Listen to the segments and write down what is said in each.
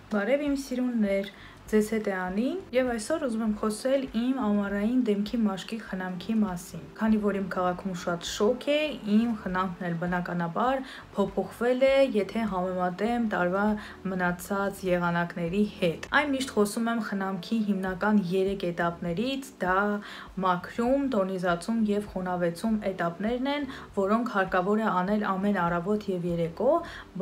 Բարև իմ սիրուններ, ձեզ հետ է Անի, եւ այսօր ուզում եմ խոսել իմ ամառային դեմքի մաշկի խնամքի մասին։ Քանի որ իմ քաղաքում շատ շոկ է, իմ խնամքն էլ բնականաբար փոփոխվել է, եթե համեմատեմ տարվա մնացած եղանակների հետ։ Այն միշտ խոսում եմ խնամքի հիմնական 3 էտապներից, դա մաքրում, տոնիզացում եւ խոնավեցում էտապներն են, որոնք հարկավոր է անել ամեն առավոտ եւ երեկո,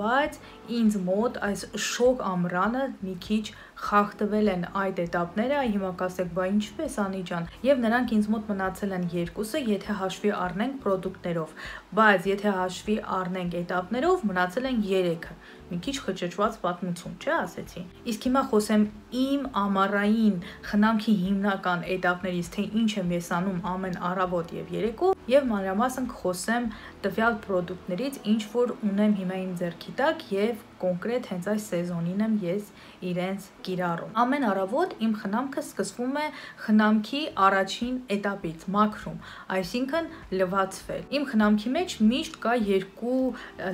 բայց ինձ մոտ այս շոկ ամռանը մի քիչ խախտվել են այդ էտապները, հիմա կասեք, բա ինչպես Անի ջան, եւ նրանք ինձ մոտ մնացել են երկուսը, եթե հաշվի առնենք պրոդուկտներով, բայց եթե հաշվի առնենք էտապներով, մնացել են 3-ը։ Մի քիչ խճճված պատմություն, չէ՞ ասեցի։ Իսկ հիմա խոսեմ իմ ամառային խնամքի հիմնական էտապներից, թե ինչ եմ ես անում ամեն առավոտ եւ երեկո, եւ մանրամասն կխոսեմ տվյալ պրոդուկտներից, ինչ որ ունեմ հիմա իմ ձեռքի տակ եւ կոնկրետ հենց այս սեզոնին եմ ես իրենց կիրառում։ Ամեն առավոտ իմ խնամքը սկսվում է խնամքի առաջին էտապից, մաքրում, այսինքն լվացվել։ Իմ խնամքի մեջ միշտ կա 2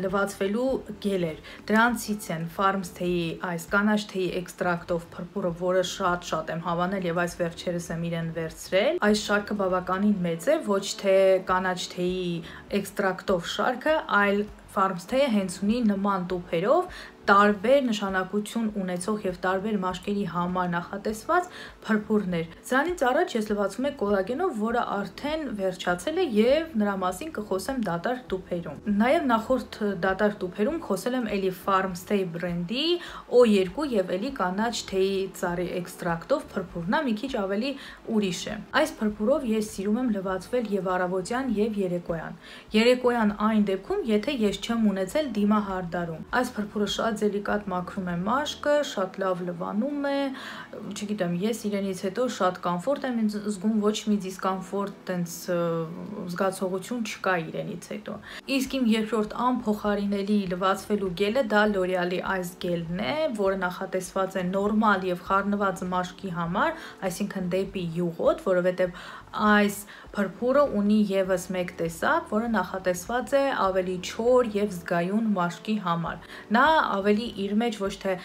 լվացվելու գելեր։ Դրանցից են Farms Tea-ի այս կանաչ թեյի էքստրակտով փրփուրը, որը շատ եմ հավանել եւ այս վերջերս եմ իրեն վերցրել։ Այս շարքը բավականին մեծ է, ոչ թե կանաչ թեյի էքստրակտով շարքը, այլ Farms Tea-ը հենց ունի նման տուփերով տարբեր նշանակություն ունեցող եւ տարբեր մաշկերի համար նախատեսված փրփուրներ։ Սրանից առաջ ես լվացում եմ կոլագենով, որը արդեն վերջացել է եւ նրա մասին կխոսեմ դատարկ տուփերում։ Նաեւ նախորդ դատարկ տուփերում խոսել եմ էլի Farms Tea բրենդի O2 եւ էլի կանաչ թեյի ծառի էքստրակտով փրփուրն է, մի քիչ ավելի ուրիշ է։ Այս փրփուրով ես սիրում եմ լվացվել եւ առավոտյան եւ երեկոյան։ Երեկոյան այն դեպքում, եթե ես չեմ ունեցել դիմահարդարում։ Այս փրփուրը շատ դելիկատ մաքրում է մաշկը, շատ լավ լվանում է, չգիտեմ, ես իրենից հետո շատ կոմֆորտ եմ զգում, ոչ մի դիսկոմֆորտ, տենց զգացողություն չկա իրենից հետո։ Իսկ իմ երկրորդ անփոխարինելի լվացվելու գելը դա L'Oreal-ի այս գելն է, որը նախատեսված է նորմալ եւ խառնված մաշկի համար, այսինքն դեպի յուղոտ, որովհետեւ այս փրփուրը ունի եւս մեկ տեսակ, որը նախատեսված է ավելի չոր եւ զգայուն մաշկի համար։ Նա ավելի իր մեջ ոչ թե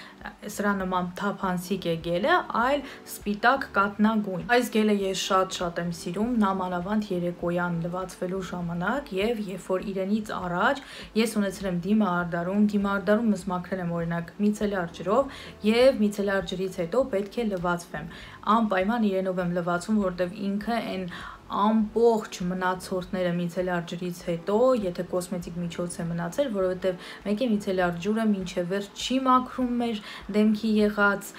սրա նման թափանցիկ է գելը, այլ սպիտակ կատնագույն։ Այս գելը ես շատ եմ սիրում, նամանավանդ երեկոյան լվացվելու ժամանակ եւ երբ որ իրենից առաջ ես ունեցել եմ դիմահարդարում ես մաքրել եմ օրինակ միցելյար ջրով եւ միցելյար ջրից հետո պետք է լվացվեմ։ Անպայման իրենով եմ լվացում, որտեվ ինքը այն ամբողջ մնացորդները միցելյար ջրից հետո, եթե կոսմետիկ միջոց է մնացել, որովհետև մեկ է միցելյար ջուրը մինչև վերջ չի մաքրում մեր դեմքի եղած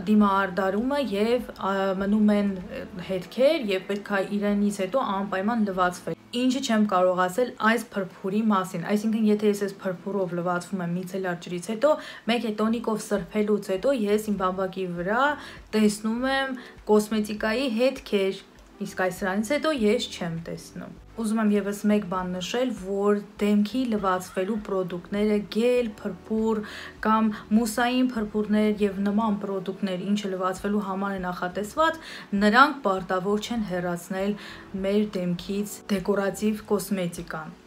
դիմահարդարումը եւ մնում են հետքեր եւ պետք է իրենից հետո անպայման լվացվել։ Ինչը չեմ կարող ասել այս փրփուրի մասին, այսինքն եթե ես այս փրփուրով լվացվում եմ միցելյար ջրից հետո, մեկ է տոնիկով սրբելուց հետո ես իմ բամբակի վրա տեսնում եմ կոսմետիկայի հետքեր, իսկ այս սրանից հետո ես չեմ տեսնում։ Ուզում եմ եւս մեկ բան նշել, որ դեմքի լվացվելու պրոդուկտները, գել, փրփուր կամ մուսային փրփուրներ եւ նման պրոդուկտներ, ինչը լվացվելու համար է նախատեսված, նրանք պարտավոր չեն հեռացնել մեր դեմքից դեկորատիվ կոսմետիկան։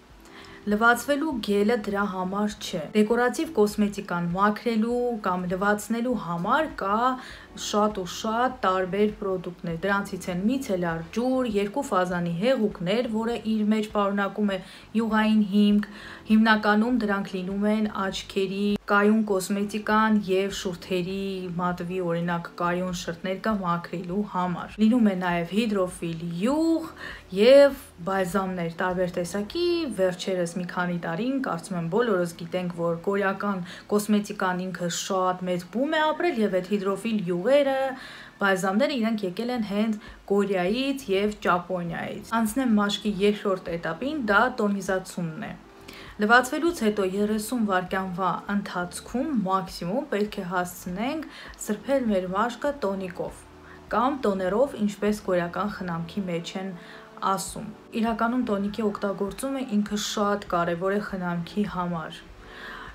Լվացվելու գելը դրա համար չէ։ Դեկորատիվ կոսմետիկան մաքրելու կամ լվացնելու համար կա շատ տարբեր պրոդուկտներ։ Դրանցից են միցելյար ջուր, 2 ֆազանի հեղուկներ, որը իր մեջ պարունակում է յուղային հիմք, հիմնականում դրանք լինում են աչքերի կայուն կոսմետիկան եւ շուրթերի մատվի օրինակ կայուն շրթներ մաքրելու համար։ Լինում է նաեւ հիդրոֆիլ յուղ եւ բալզամներ տարբեր տեսակի, վերջերս մի քանի տարին կարծում եմ բոլորս գիտենք, որ կորեական կոսմետիկան ինքը շատ մեծ բում է ապրել եւ այդ հիդրոֆիլ յուղերը, բալզամները իրենք եկել են հենց Կորեայից եւ Ճապոնիայից։ Անցնեմ մաշկի երկրորդ էտապին, դա տոնիզացումն է։ Լվացվելուց հետո 30 վայրկյանվա ընթացքում մաքսիմում պետք է հասցնենք սրբել մեր մաշկը տոնիկով կամ տոներով, ինչպես կորեական խնամքի մեջ են ասում։ Իրականում տոնիկի օգտագործումը ինքը շատ կարևոր է խնամքի համար։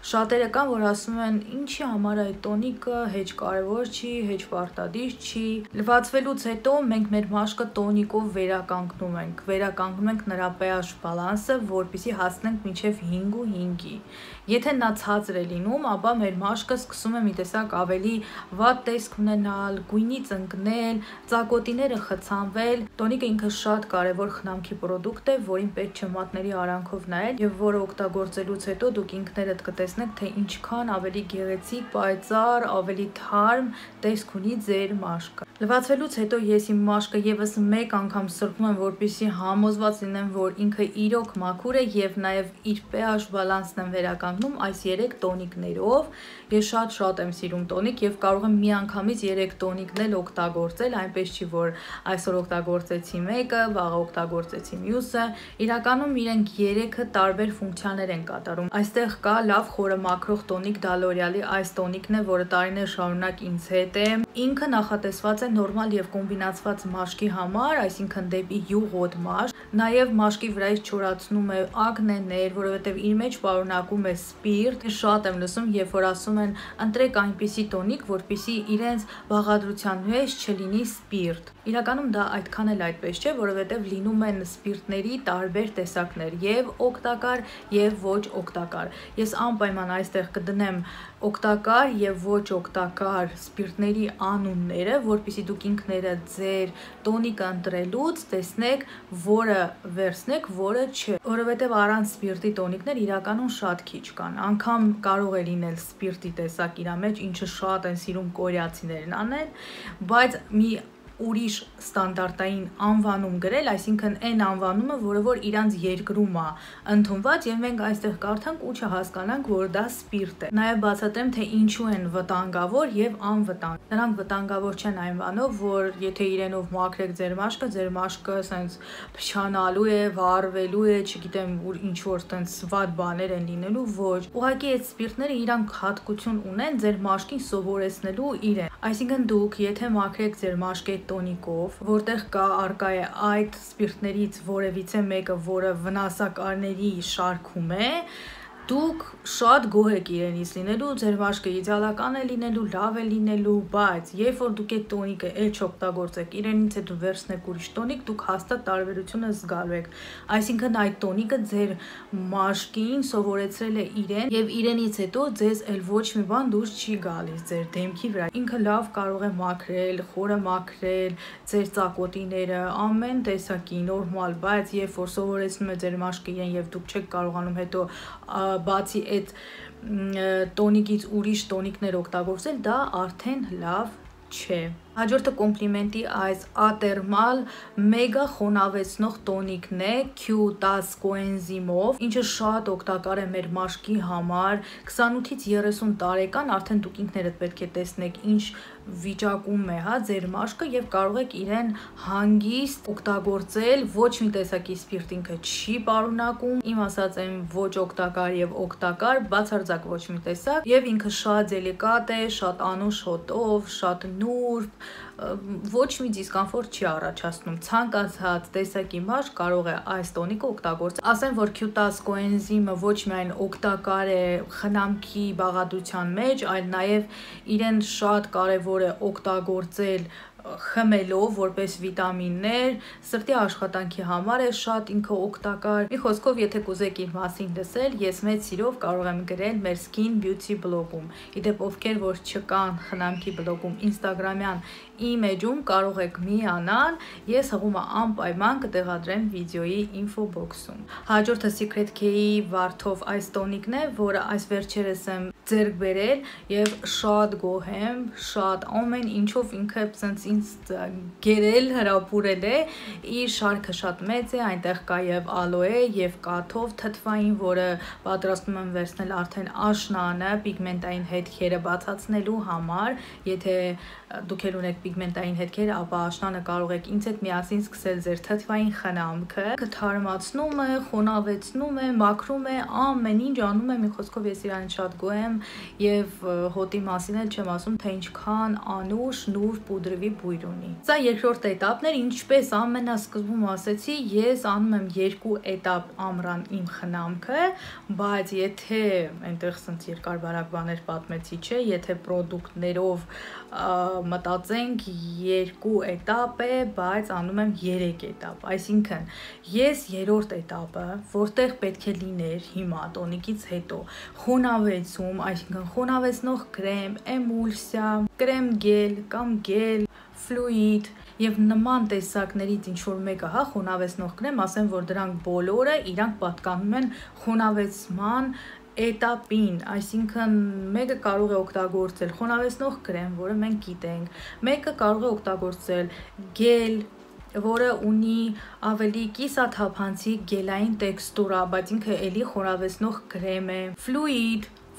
Շատերը կան, որ ասում են, ինչի համար է տոնիկը, հեչ կարևոր չի, հեչ պարտադիր չի։ Լվացվելուց հետո մենք մեր մաշկը տոնիկով վերականգնում ենք նրա pH բալանսը, որպեսզի հասնենք մինչև 5.5-ի։ Եթե նա ցածր է լինում, ապա մեր մաշկը սկսում է մի տեսակ ավելի վատ տեսք ունենալ, գույնից ընկնել, ծակոտիները խցանվել։ Տոնիկը ինքը շատ կարևոր խնամքի պրոդուկտ է, որին պետք չէ մատների արանքով նայել եւ որը օգտագործելուց հետո դուք ինքներդ կտեսնեք, թե ինչքան ավելի գեղեցիկ, պայծառ, ավելի թարմ տեսք ունի ձեր մաշկը։ Լվացվելուց հետո ես իմ մաշկը եւս մեկ անգամ սրբում եմ, որպեսզի համոզված լինեմ, որ ինքը իրոք մաքուր է եւ նաեւ իր pH բալանսն եմ վերականգնում այս 3 տոնիկներով։ Ես շատ եմ սիրում տոնիկ եւ կարող եմ միանգամից 3 տոնիկն էլ օգտագործել, այնպես չի որ այսօր օգտագործեցի մեկը, վաղը օգտագործեցի մյուսը։ Իրականում իրենք 3-ը տարբեր ֆունկցիաներ են կատարում։ Այստեղ կա լավ խորը մաքրող տոնիկ, դա L'Oreal-ի այս տոնիկն է, որը տարիներ շարունակ ինձ հետ է։ Ինքը նախատեսված է նորմալ եւ կոմբինացված մաշկի համար, այսինքն դեպի յուղոտ մաշկ, նաեւ մաշկի վրայից չորացնում է ակնեներ, որովհետեւ իր մեջ պարունակում է սպիրտ։ Ես շատ եմ լսում, երբ որ ասում են ընտրեք այնպիսի տոնիկ, որպեսզի իրենց բաղադրության մեջ չլինի սպիրտ։ Իրականում դա այդքան էլ այդպես չէ, որովհետեւ լինում են սպիրտների տարբեր տեսակներ, եւ օգտակար եւ ոչ օգտակար։ Ես անպայման այստեղ կդնեմ օգտակար եւ ոչ օգտակար սպիրտների անունները, որպեսզի դուք ինքներդ ձեր տոնիկը ընտրելուց տեսնեք, որը վերցնեք, որը չէ, որովհետեւ առանց սպիրտի տոնիկներ իրականում շատ քիչ կան։ Անգամ կարող է լինել սպիրտի տեսակ իր մեջ, ինչը շատ են սիրում կորեացիներն անել, բայց մի ուրիշ ստանդարտային անվանում գրել, այսինքն այն անվանումը, որը որ իրանց երկրում է ընդունված եւ մենք այստեղ կարդանք ու չհասկանանք, որ դա սպիրտ է։ Նաեւ բացատրեմ, թե ինչու են վտանգավոր եւ անվտանգ։ Նրանք վտանգավոր չեն այն բանով, որ եթե իրենով մաքրեք ձեր մաշկը սենց փչանալու է, վառվելու է, չգիտեմ, ինչ որ տենց վատ բաներ են լինելու, ոչ։ Ուղղակի այդ սպիրտները իրանք հատկություն ունեն ձեր մաշկին սովորեցնելու իրեն։ Այսինքն դուք եթե մաքրեք ձեր մաշկի տոնիկով, որտեղ արկա է այդ սպիրտներից որևիցե մեկը, որը վնասակարների շարքում է, դուք շատ գոհ եք իրենից լինելու, ձեր մաշկը իդեալական է լինելու, լավ է լինելու, բայց երբ որ դուք այդ տոնիկը էլ չօգտագործեք, իրենից հետո վերցնեք ուրիշ տոնիկ, դուք հաստատ տարբերությունը զգալու եք։ Այսինքն այդ տոնիկը ձեր մաշկին սովորեցրել է իրեն եւ իրենից հետո ձեզ էլ ոչ մի բան դուրս չի գալիս ձեր դեմքի վրա։ Ինքը լավ կարող է մաքրել, խորը մաքրել ձեր ծակոտիները, ամեն տեսակի նորմալ, բայց երբ որ սովորեցնում է ձեր մաշկը իրեն եւ դուք չեք կարողանում հետո բացի այդ տոնիկից ուրիշ տոնիկներ օգտագործել, դա արդեն լավ չէ։ Հաջորդը կոմպլիմենտի այս ատերմալ մեգա խոնավեցնող տոնիկն է Q10 կոենզիմով, ինչը շատ օգտակար է մեր մաշկի համար։ 28-ից 30 տարեկան արդեն դուք ինքներդ պետք է տեսնեք ինչ վիճակում է, ձեր մաշկը եւ կարող եք իրեն հանգիստ օգտագործել, ոչ մի տեսակի սպիրտ ինքը չի պարունակում, իմ ասած այն ոչ օգտակար եւ օգտակար, բացարձակ ոչ մի տեսակ, եւ ինքը շատ դելիկատ է, շատ անուշ հոտով, շատ նուրբ, ոչ մի դիսկոմֆորտ չի առաջացնում։ Ցանկացած տեսակի մաշկ կարող է այս տոնիկը օգտագործել։ Ասեմ, որ Q10 կոենզիմը ոչ միայն օգտակար է խնամքի բաղադրության մեջ, այլ նաեւ իրեն շատ կարեւոր է օգտագործել խմելով որպես վիտամիններ, սրտի աշխատանքի համար է շատ ինքը օգտակար։ Մի խոսքով, եթե կուզեք իր մասին լսել, ես մեծ սիրով կարող եմ գրել մեր Skin Beauty բլոգում։ Իդեպ ովքեր որ չկան խնամքի բլոգում, Instagram-յան իմեջում կարող եք միանալ, ես հղումը անպայման կտեղադրեմ վիդեոյի info box-ում։ Հաջորդը Secret K-ի վարդով այս տոնիկն է, որը այս վերջերս եմ ձեռք բերել եւ շատ գոհ եմ, շատ ամեն ինչով ինքը ցենց ինձ գերել, հրապուրել է, իր շարքը շատ մեծ է, այնտեղ կա եւ ալոե եւ կաթով թթվային, որը պատրաստում եմ վերցնել արդեն աշնանը պիգմենտային հետքերը բացացնելու համար, եթե դուք ել ունեք պիգմենտային հետքեր, ապա աշնանը կարող եք ինձ հետ միասին սկսել ձեր թթվային խնամքը, թարմացնում է, խոնավեցնում է, մաքրում է, ամեն ինչ անում է, մի խոսքով ես իրանից շատ գոհ եմ, եւ հոտի մասին էլ չեմ ասում, թե ինչքան անուշ, նուրբ ու դրվի բույր ունի։ Սա երկրորդ էտապն էր, ինչպես ամենասկզբում ասեցի, ես անում եմ 2 էտապ ամռան իմ խնամքը, բայց եթե այնտեղ սենց երկար-բարակ բաներ պատմեցի, չէ, եթե պրոդուկտներով մտածենք 2 էտապ է, բայց անում եմ 3 էտապ, այսինքն ես երրորդ էտապը, որտեղ պետք է լիներ հիմա տոնիկից հետո խոնավեցում, այսինքն խոնավեցնող կրեմ, էմուլսիա, կրեմ գել կամ գել, ֆլուիդ եւ նման տեսակներից ինչ որ մեկը, հա, խոնավեցնող կրեմ, ասեմ, որ դրանք բոլորը իրանք պատկանում են խոնավեցման էտապին, այսինքն մեկը կարող է օգտագործել խոնավեցնող կրեմ, որը մենք գիտենք, մեկը կարող է օգտագործել գել, որը ունի ավելի կիսաթափանցիկ գելային տեքստուրա, բայց ինքը էլի խոնավեցնող կրեմ է,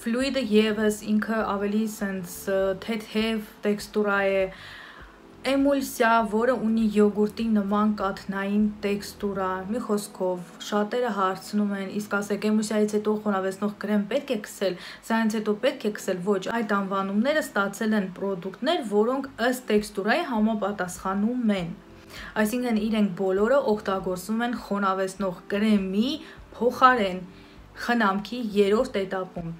ֆլուիդը եւս ինքը ավելի սենց թեթև տեքստուրա է, էմուլսիա, որը ունի յոգուրտի նման կաթնային տեքստուրա, մի խոսքով շատերը հարցնում են, իսկ ասեք էմուլսիայից հետո խոնավեցնող կրեմ պետք է քսել, սրանից հետո պետք է քսել, ոչ, այդ անվանումները ստացել են պրոդուկտներ, որոնք ըստ տեքստուրայի համապատասխանում են, այսինքն իրենք բոլորը օգտագործվում են խոնավեցնող կրեմի փոխարեն խնամքի երրորդ էտապում,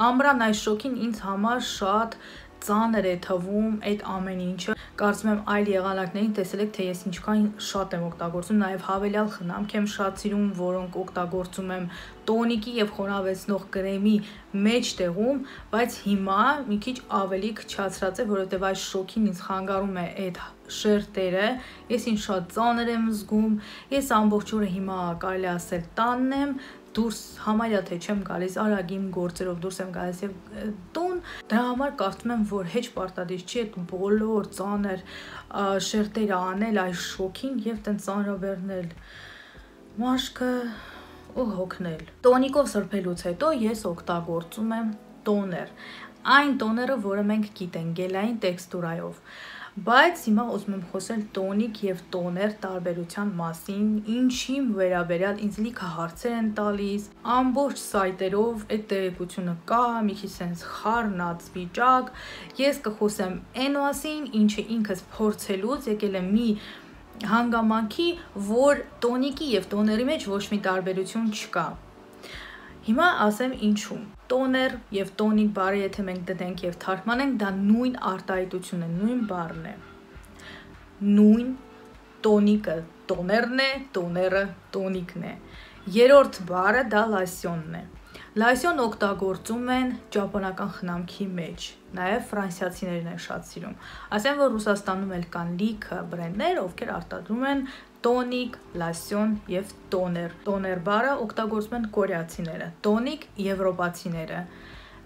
ամռան այս շոկին ինձ համար շատ ծանր է թվում այդ ամեն ինչը, կարծում եմ այլ եղանակներին տեսել եք, թե ես ինչքան շատ եմ օգտագործում, նաև հավելյալ խնամք եմ շատ սիրում, որոնք օգտագործում եմ տոնիկի եւ խոնավեցնող կրեմի մեջտեղում, բայց հիմա մի քիչ ավելի քչացրած է, որովհետեւ այս շոկին ինձ խանգարում է այդ շերտերը, ես ինձ շատ ծանր եմ զգում, ես ամբողջ օրը հիմա կարելի ասել տանն եմ, դուրս համարյա թե չեմ գալիս, արագ իմ գործերով դուրս եմ գալիս եւ տուն, դրա համար կարծում եմ, որ հեչ պարտադիր չի այդ բոլոր ծանր շերտերը անել այս շոկին եւ տենց ծանրաբեռնել մաշկը ու հոգնել։ Տոնիկով սրբելուց հետո ես օգտագործում եմ տոներ, այն տոները, որը մենք գիտենք, գելային տեքստուրայով, բայց հիմա ուզում եմ խոսել տոնիկ եւ տոներ տարբերության մասին, ինչի վերաբերյալ ինձ լիքը հարցեր են տալիս, ամբողջ սայտերով այդ տեղեկությունը կա, մի քիչ sense խառնած վիճակ, ես կխոսեմ այն մասին, ինչը ինքս փորձելուց եկել եմ մի հանգամանքի, որ տոնիկի եւ տոների մեջ ոչ մի տարբերություն չկա։ Հիմա ասեմ ինչու։ Տոներ եւ տոնիկ բառը եթե մենք դնենք եւ թարգմանենք, դա նույն արտահայտությունն է, նույն բառն է։ Նույն տոնիկը տոներն է, տոները տոնիկն է։ Երրորդ բառը դա լասյոնն է։ Լասյոն օգտագործում են ճապոնական խնամքի մեջ, նաև ֆրանսիացիներն են շատ սիրում։ Ասեմ, որ Ռուսաստանում էլ կան լիքը բրենդներ, ովքեր արտադրում են տոնիկ, լասյոն եւ տոներ։ Տոներ բառը օգտագործում են կորեացիները, տոնիկ եվրոպացիները։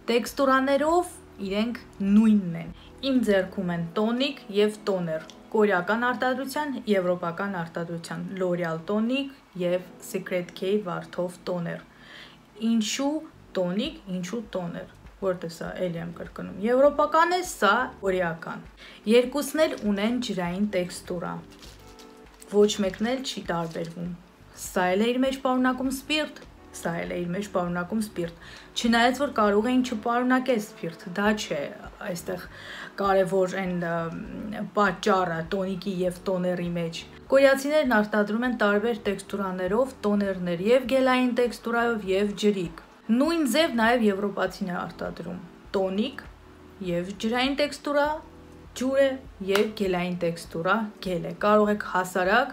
Տեքստուրաներով իրենք նույնն են։ Իմ ձեռքում են տոնիկ եւ տոներ, կորեական արտադրության, եվրոպական արտադրության, L'Oreal տոնիկ եւ Secret K վարդով տոներ։ Ինչու տոնիկ, ինչու տոներ, որտե սա էլի եմ կրկնում, եվրոպական է, սա կորեական։ Երկուսն էլ ունեն ջրային տեքստուրա, ոչ մեկն էլ չի տարբերվում, սա էլ է իր մեջ պարունակում սպիրտ, սա էլ է իր մեջ պարունակում սպիրտ, չնայած որ կարող էին չպարունակել սպիրտ, դա չէ, այստեղ կարևոր են պատճառը տոնիկի եւ տոների մեջ։ Կորեացիներն արտադրում են տարբեր տեքստուրաներով տոներներ եւ գելային տեքստուրայով եւ ջրիկ։ Նույն ձև նաեւ եվրոպացին է արտադրում։ Տոնիկ եւ ջրային տեքստուրա, ջուրը եւ գելային տեքստուրա, գել է։ Կարող եք հասարակ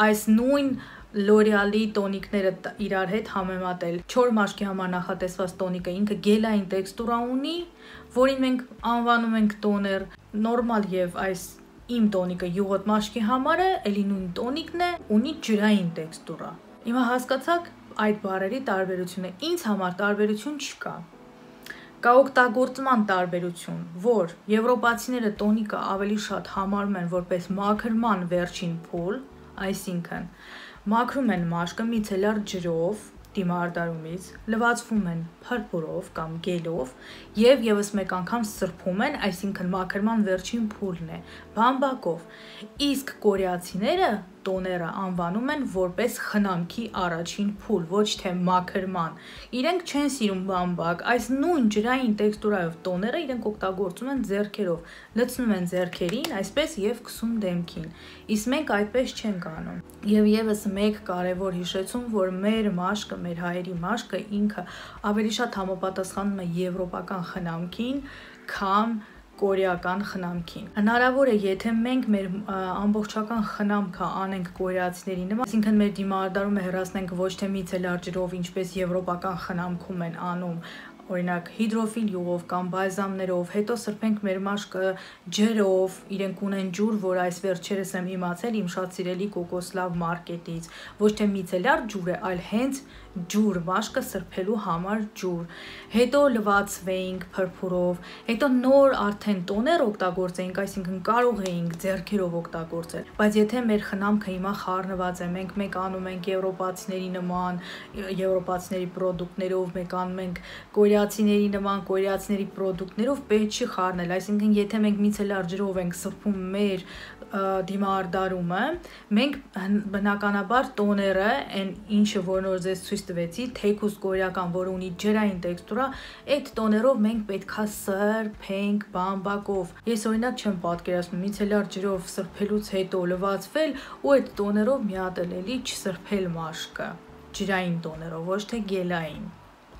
այս նույն L'Oreal-ի տոնիկները իրար հետ համեմատել։ Չոր մաշկի համար նախատեսված տոնիկը ինքը գելային տեքստուրա ունի, որին մենք անվանում ենք տոներ, նորմալ եւ այս իմ տոնիկը յուղոտ մաշկի համար է, էլի նույն տոնիկն է, ունի ջրային տեքստուրա։ Հիմա հասկացաք այդ բառերի տարբերությունը, ինձ համար տարբերություն չկա։ Կա օգտագործման տարբերություն, որ եվրոպացիները տոնիկը ավելի շատ համարում են որպես մաքրման վերջին փուլ, այսինքն մաքրում են մաշկը միցելար ջրով, դիմահարդարումից, լվացվում են փրփուրով կամ գելով եւ եւս մեկ անգամ սրբում են, այսինքն մաքրման վերջին փուլն է, բամբակով։ Իսկ կորեացիները տոները անվանում են որպես խնամքի առաջին փուլ, ոչ թե մաքրման։ Իրենք չեն սիրում բամբակ, այս նույն ջրային տեքստուրայով տոները իրենք օգտագործում են ձեռքերով, լցնում են ձեռքերին, այսպես եւ քսում դեմքին։ Իսկ մենք այդպես չենք անում։ Եվ եւս մեկ կարևոր հիշեցում, որ մեր մաշկը, մեր հայերի մաշկը ինքը ավելի շատ համապատասխանում է եվրոպական խնամքին, քան կորեական խնամքին։ Հնարավոր է, եթե մենք մեր ամբողջական խնամքը անենք կորեացիների նման, այսինքն մեր դիմահարդարումը հեռացնենք ոչ թե միցելար ջրով, ինչպես եվրոպական խնամքում են անում, օրինակ հիդրոֆիլ յուղով կամ բալզամներով, հետո սրբենք մեր մաշկը ջրով, իրենք ունեն ջուր, որ այս վերջերս եմ իմացել իմ շատ սիրելի կոկոսլավ մարկետից, ոչ թե միցելար ջուր է, այլ հենց ջուր, մաշկը սրբելու համար ջուր, հետո լվացվեինք փրփուրով, հետո նոր արդեն տոներ օգտագործեինք, այսինքն կարող էինք ձեռքերով օգտագործել, բայց եթե մեր խնամքը հիմա խառնված է, մենք մեկ անում ենք եվրոպացիների նման, եվրոպացիների պրոդուկտներով, մեկ անում ենք կորեացիների նման, կորեացիների պրոդուկտներով, պետք չի խառնել, այսինքն եթե մենք միցելար ջրով ենք սրբում մեր դիմահարդարումը, մենք բնականաբար տոները, այն ինչը որ նոր ձեզ ցույց տվեցի, թեքուս կորեական, որ ունի ջրային տեքստուրա, այդ տոներով մենք պետքա սրբենք բամբակով։ Ես օրինակ չեմ պատկերացնում միցելար ջրով սրբելուց հետո լվացվել ու այդ տոներով մի հատ էլի չսրբել մաշկը, ջրային տոներով, ոչ թե գելային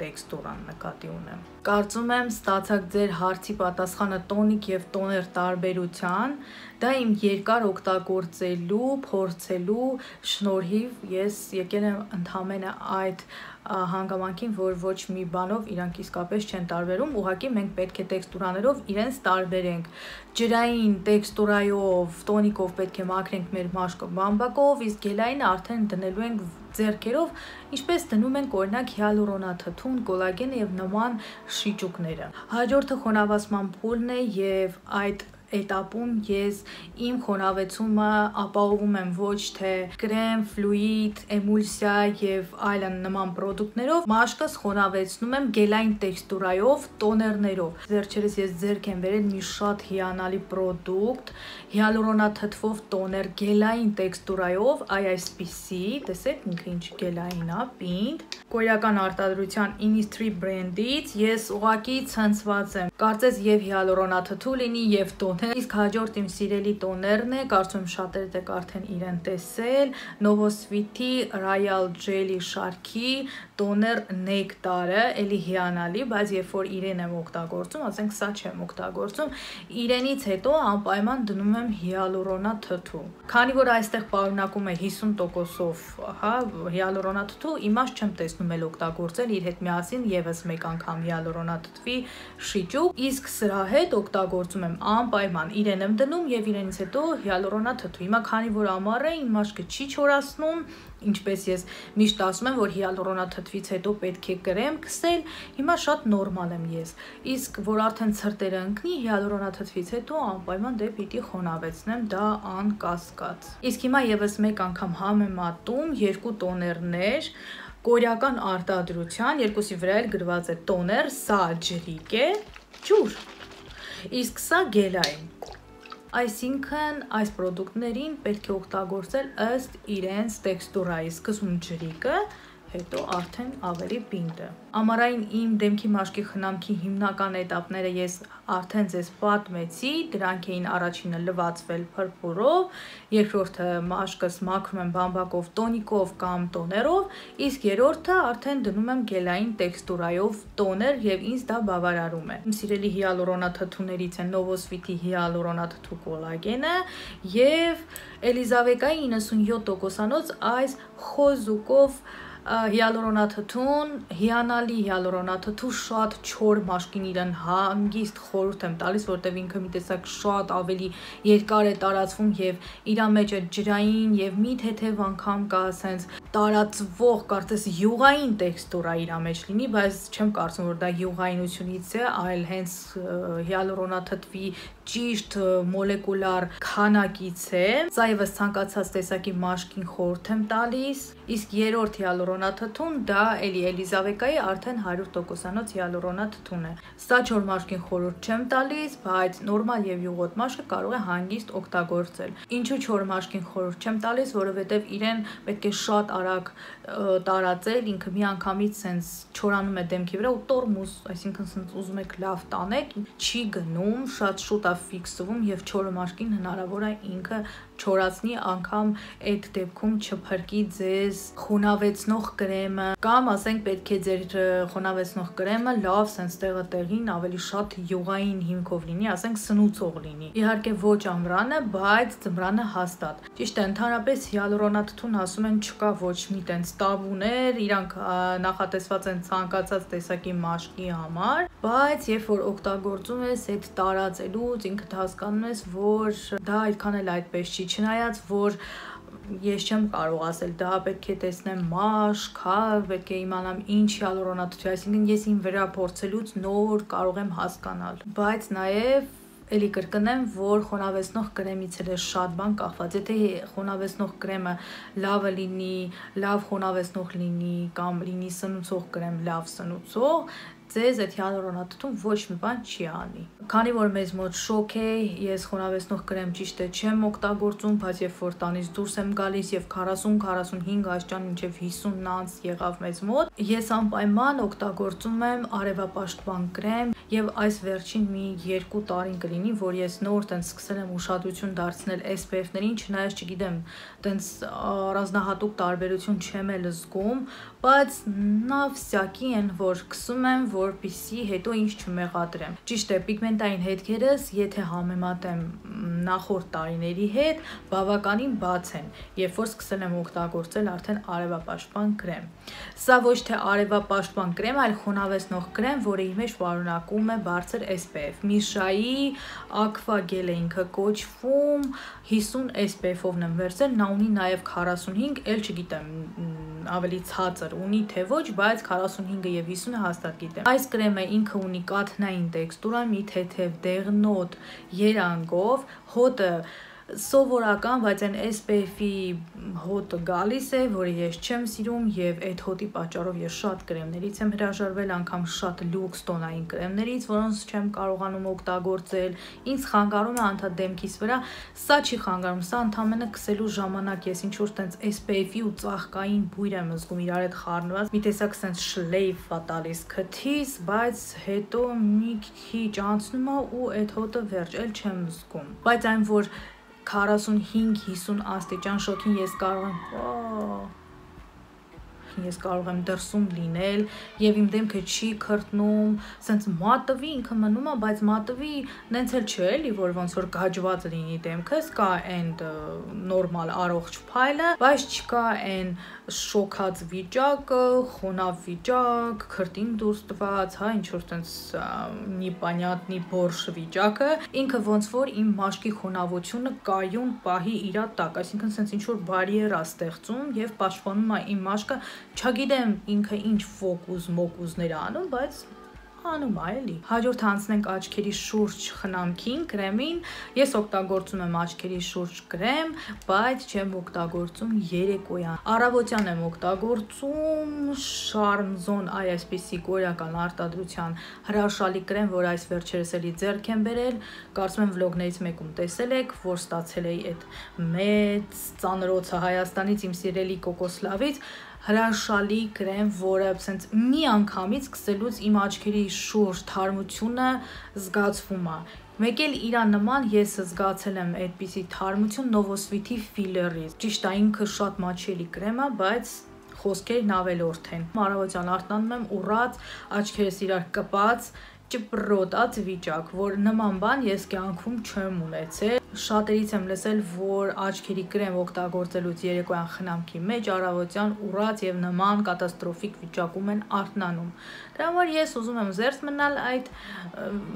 տեքստուրան նկատի ունեմ։ Կարծում եմ ստացաք ձեր հարցի պատասխանը տոնիկ եւ տոներ տարբերության, դա իմ երկար օգտագործելու, փորձելու շնորհիվ ես եկել եմ ընդհանրապես այդ հանգամանքին, որ ոչ մի բանով իրանք իսկապես չեն տարբերում, ուղղակի մենք պետք է տեքստուրաներով իրենց տարբերենք։ Ջրային տեքստուրայով, տոնիկով պետք է մաքրենք մեր մաշկը բամբակով, իսկ գելայինը արդեն դնելու ենք ձեռքերով, ինչպես դնում ենք օրինակ հիալուրոնաթթուն, կոլագենը եւ նման շիճուկները։ Հաջորդը խոնավացման փուլն է եւ այդ էտապում ես իմ խոնավեցումը ապահովում եմ ոչ թե կրեմ, ֆլուիդ, էմուլսիա եւ այլն նման պրոդուկտներով, մաշկս խոնավեցնում եմ գելային տեքստուրայով, տոներներով։ Վերջերս ես ձեռք եմ բերել մի շատ հիանալի պրոդուկտ, հիալուրոնաթթվով տոներ գելային տեքստուրայով, այսպիսի, տեսեք ինքը ինչ գելային է, պինդ, կորեական արտադրության Innisfree բրենդից, ես ուղղակի ցնցված եմ։ Կարծես եւ հիալուրոնաթթու լինի եւ տոներ, իսկ հաջորդ իմ սիրելի տոներն է, կարծում եմ շատերդ եք արդեն իրեն տեսել, Novosviti Royal Jelly շարքի տոներ նեկտարը, էլի հիանալի, բայց երբ որ իրեն եմ օգտագործում, ասենք սա չեմ օգտագործում, իրենից հետո անպայման դնում եմ հիալուրոնաթթու։ Քանի որ այստեղ պարունակում է 50%-ով, հա, հիալուրոնաթթու, իմաստ չեմ տեսնում էլ օգտագործել իր հետ միասին եւս մեկ անգամ հիալուրոնաթթվի շիճուկ, իսկ սրա հետ օգտագործում եմ անպայման իրեն եմ դնում եւ իրենից հետո հիալուրոնաթթու։ Հիմա քանի որ ամառ է, իմ մաշկը չի չորացնում, ինչպես ես միշտ ասում եմ, որ հիալուրոնաթթվից հետո պետք է կրեմ քսել, հիմա շատ նորմալ եմ ես։ Իսկ որ արդեն ցրտերը ընկնի, հիալուրոնաթթվից հետո անպայման դե պիտի խոնավեցնեմ դա անկասկած։ Իսկ հիմա եւս մեկ անգամ համեմատում երկու տոներներ, կորեական արտադրության, երկուսի վրա էլ գրված է տոներ, սա ջրիկ է, ջուր, իսկ սա գելային։ Այսինքն այս պրոդուկտներին պետք է օգտագործել ըստ իրենց տեքստուրայի, սկզբում ջրիկը, հետո արդեն ավելի պինտը։ Ամառային իմ դեմքի մաշկի խնամքի հիմնական էտապները ես արդեն ձեզ պատմեցի, դրանք էին առաջինը լվացվել փրփուրով, երկրորդը մաշկս մաքրում եմ բամբակով, տոնիկով կամ տոներով, իսկ երրորդը արդեն դնում եմ գելային տեքստուրայով տոներ եւ ինձ դա բավարարում է։ Իմ սիրելի հիալուրոնաթթուներից են Novosviti հիալուրոնաթթու կոլագենը եւ Էլիզավեկայի 97%-անոց այս խոզուկով հիալուրոնաթթուն, հիանալի հիալուրոնաթթու, շատ չոր մաշկին իրեն հանգիստ խորհուրդ եմ տալիս, որտեղ ինքը մի տեսակ շատ ավելի երկար է տարածվում եւ իր մեջ է ջրային եւ մի թեթև անգամ կա ասենց տարածվող, կարծես յուղային տեքստուրա իր մեջ լինի, բայց չեմ կարծում որ դա յուղայինությունից է, այլ հենց հիալուրոնաթթվի ճիշտ մոլեկուլար քանակից է։ Սա եւս ցանկացած տեսակի մաշկին խորհուրդ եմ տալիս, Իսկ երրորդ հիալուրոնաթթուն դա էլի Էլիզավեկայի արդեն 100%-անոց հիալուրոնաթթուն է։ Սա չոր մաշկին խորհուրդ չեմ տալիս, բայց նորմալ եւ յուղոտ մաշկը կարող է հանգիստ օգտագործել։ Ինչու չոր մաշկին խորհուրդ չեմ տալիս, որովհետեւ իրեն պետք է շատ արագ տարածել, ինքը միանգամից sense չորանում է դեմքի վրա ու տորմուզ, այսինքն sense ուզում եք լավ տանեք, չի գնում, շատ շուտ է ֆիքսվում եւ չորը մաշկին հնարավոր է ինքը չորացնի, անգամ այդ դեպքում չփրկի ձեզ խոնավեցնող կրեմը, կամ ասենք պետք է ձեր խոնավեցնող կրեմը լավ sense տեղը տեղին ավելի շատ յուղային հիմքով լինի, ասենք սնուցող լինի։ Իհարկե ոչ ամռանը, բայց ձմռանը հաստատ։ Ճիշտ է, ընդհանրապես հիալուրոնաթթուն ասում են չկա ոչ մի տենց տաբուներ, իրանք նախատեսված են ցանկացած տեսակի մաշկի համար, բայց երբ որ օգտագործում ես այդ տարածելուց ինքդ հասկանում ես, որ դա այդքան էլ այդպես չի, չնայած որ ես չեմ կարող ասել, դա պետք է տեսնեմ մաշկ, հա, պետք է իմանամ ինչ հիալուրոնաթթու, այսինքն ես իմ վրա փորձելուց նոր կարող եմ հասկանալ, բայց նաև էլի կրկնեմ, որ խոնավեցնող կրեմից էլ է շատ բան կախված, եթե խոնավեցնող կրեմը լավը լինի, լավ խոնավեցնող լինի, կամ լինի սնուցող կրեմ, լավ սնուցող, ձեզ այդ հիալուրոնաթթուն ոչ մի բան չի անի։ Քանի որ մեզ մոտ շոկ է, ես խոնավեցնող կրեմ ճիշտ է չեմ օգտագործում, բայց երբ որ տանից դուրս եմ գալիս եւ 40-45 աստիճան մինչեւ 50 անց եղավ մեզ մոտ, ես անպայման օգտագործում եմ արևապաշտպան կրեմ եւ այս վերջին մի 2 տարին կլինի, որ ես նոր տենց սկսել եմ ուշադրություն դարձնել SPF-ներին, չնայած չգիտեմ, տենց առանձնահատուկ տարբերություն չեմ էլ զգում, բայց նա վսյակի են, որ քսում եմ, որպեսզի հետո ինչ չմեղադրեմ։ Ճիշտ է, պիգմենտային հետքերս, եթե համեմատեմ նախորդ տարիների հետ, բավականին բաց են, երբ որ սկսել եմ օգտագործել արդեն արևապաշտպան կրեմ։ Սա ոչ թե արևապաշտպան կրեմ, այլ խոնավեցնող կրեմ, որը իր մեջ պարունակում է բարձր SPF։ Միշայի Aqua Gel է ինքը կոչվում, 50 SPF-ով եմ վերցրել, նա ունի նաև 45, էլ չգիտեմ, ավելի ցածր ունի թե ոչ, բայց 45-ը եւ 50-ը հաստատ գիտեմ։ Այս կրեմը ինքը ունի կաթնային տեքստուրա, մի թեթև դեղնոտ երանգով, հոտը սովորական, բայց այն SPF-ի հոտը գալիս է, որը ես չեմ սիրում եւ այդ հոտի պատճառով ես շատ կրեմներից եմ հրաժարվել, անգամ շատ լյուքս տոնային կրեմներից, որոնց չեմ կարողանում օգտագործել, ինձ խանգարում է անդադ դեմքիս վրա, սա չի խանգարում, սա ընդամենը քսելու ժամանակ ես ինչ որ տենց SPF-ի ու ծաղկային բույր եմ զգում իրար հետ խառնված, մի տեսակ sense շլեյֆ է տալիս քթիս, բայց հետո մի քիչ անցնում է ու այդ հոտը վերջ, էլ չեմ զգում, բայց այն որ 45-50 աստիճան շոկին ես կարող եմ դրսում լինել եւ իմ դեմքը չի քրտնում, sense մատվի ինքը մնում է, բայց մատվի նենց էլ չէ էլի, որ ոնց որ գաջված լինի դեմքս, կա այն նորմալ առողջ փայլը, բայց չկա այն շոկած վիճակը, խոնավ վիճակ, քրտին դուրս տված, հա, ինչ որ տենց նիպանյատնի բորշ վիճակը, ինքը ոնց որ իմ մաշկի խոնավությունը կայուն պահի իրա տակ, այսինքն sense ինչ որ բարիեր է ստեղծում եւ պաշտպանում է իմ մաշկը, չգիտեմ ինքը ինչ ֆոկուս-մոկուզներ անում, բայց անում է էլի։ Հաջորդ անցնենք աչքերի շուրջ խնամքին, կրեմին։ Ես օգտագործում եմ աչքերի շուրջ կրեմ, բայց չեմ օգտագործում երեկոյան։ Առավոտյան եմ օգտագործում Charmzone այսպիսի կորեական արտադրության հրաշալի կրեմ, որ այս վերջերս էլի ձեռք եմ բերել, կարծում եմ վլոգներից մեկում տեսել եք, որ ստացել էի այդ մեծ ծանրոցը Հայաստանից, իմ սիրելի Կոկոսլավից, հրաշալի կրեմ, որը sense մի անգամից սկսելուց իմ աչքերի շուրջ թարմությունը զգացվում է։ Մեկ էլ իրա նման ես զգացել եմ այդպիսի թարմություն Novosvit-ի ֆիլերից։ Ճիշտ է, ինքը շատ մաչելի կրեմ է, բայց խոսքերն ավելորդ են։ Առավոտյան արթնանում եմ ուռած, աչքերս իրար կպած, ճպրոտած վիճակ, որ նման բան ես կյանքում չեմ ունեցել։ Շատերից եմ լսել, որ աչքերի կրեմ օգտագործելուց երեկոյան խնամքի մեջ առավոտյան ուռած եւ նման կատաստրոֆիկ վիճակում են արթնանում։ Դրա համար ես ուզում եմ զերծ մնալ այդ